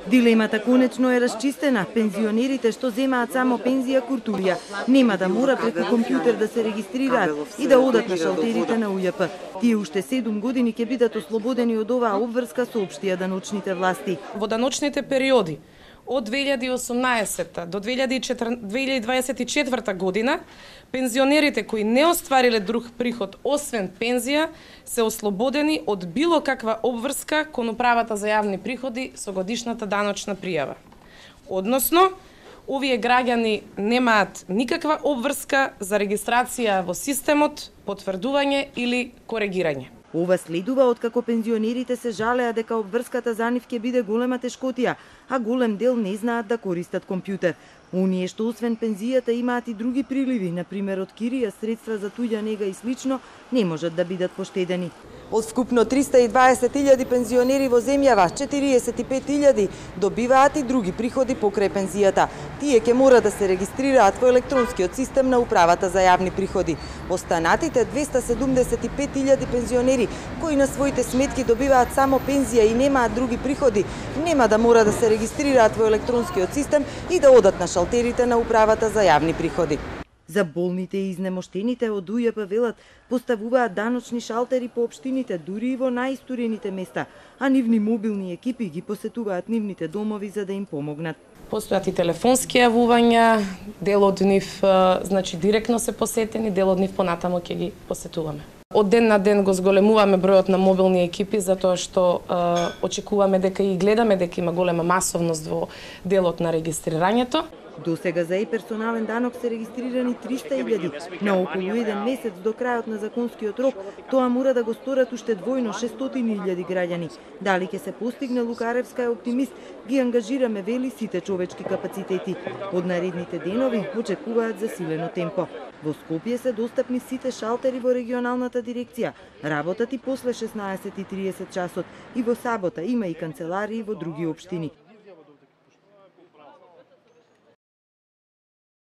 Дилемата конечно е расчистена. Пензионерите што земаат само пензија куртулија нема да мора преку компјутер да се регистрираат и да одат на шалтерите на УЈП. Тие уште 7 години ќе бидат ослободени од оваа обврска, соопштија даночните власти. Во даночните периоди од 2018 до 2024 година, пензионерите кои не оствариле друг приход освен пензија се ослободени од било каква обврска кон управата за јавни приходи со годишната даночна пријава. Односно, овие граѓани немаат никаква обврска за регистрација во системот, потврдување или коригирање. Ова следува откако пензионерите се жалеа дека обврската за нив ќе биде голема тешкотија, а голем дел не знаат да користат компјутер. Оние што освен пензијата имаат и други приливи, например од кирија, средства за туѓа нега и слично, не можат да бидат поштедени. Од вкупно 320.000 пензионери во земјава, 45.000 добиваат и други приходи покрај пензијата. Тие ќе мора да се регистрираат во електронскиот систем на управата за јавни приходи. Останатите 275.000 пензионери кои на своите сметки добиваат само пензија и немаат други приходи, нема да мора да се регистрираат во електронскиот систем и да одат на шалтерите на управата за јавни приходи. За болните и изнемоштените од УЈП велат поставуваат даночни шалтери по општините, дури и во најистурените места, а нивни мобилни екипи ги посетуваат нивните домови за да им помогнат. Постојат и телефонски јавувања, дел од нив директно се посетени, дел од нив понатамо ќе ги посетуваме. Од ден на ден го зголемуваме бројот на мобилни екипи затоа што очекуваме дека и гледаме дека има голема масовност во делот на регистрирањето. До сега за персонален данок се регистрирани 300.000. На околу еден месец до крајот на законскиот рок, тоа мора да го сторат уште двојно 600.000 граѓани. Дали ќе се постигне, Лукаревска е оптимист, ги ангажираме вели сите човечки капацитети. Од наредните денови очекуваат засилено темпо. Во Скопје се достапни сите шалтери во регионалната дирекција. Работат и после 16:30 часот и во сабота има и канцеларии во други општини.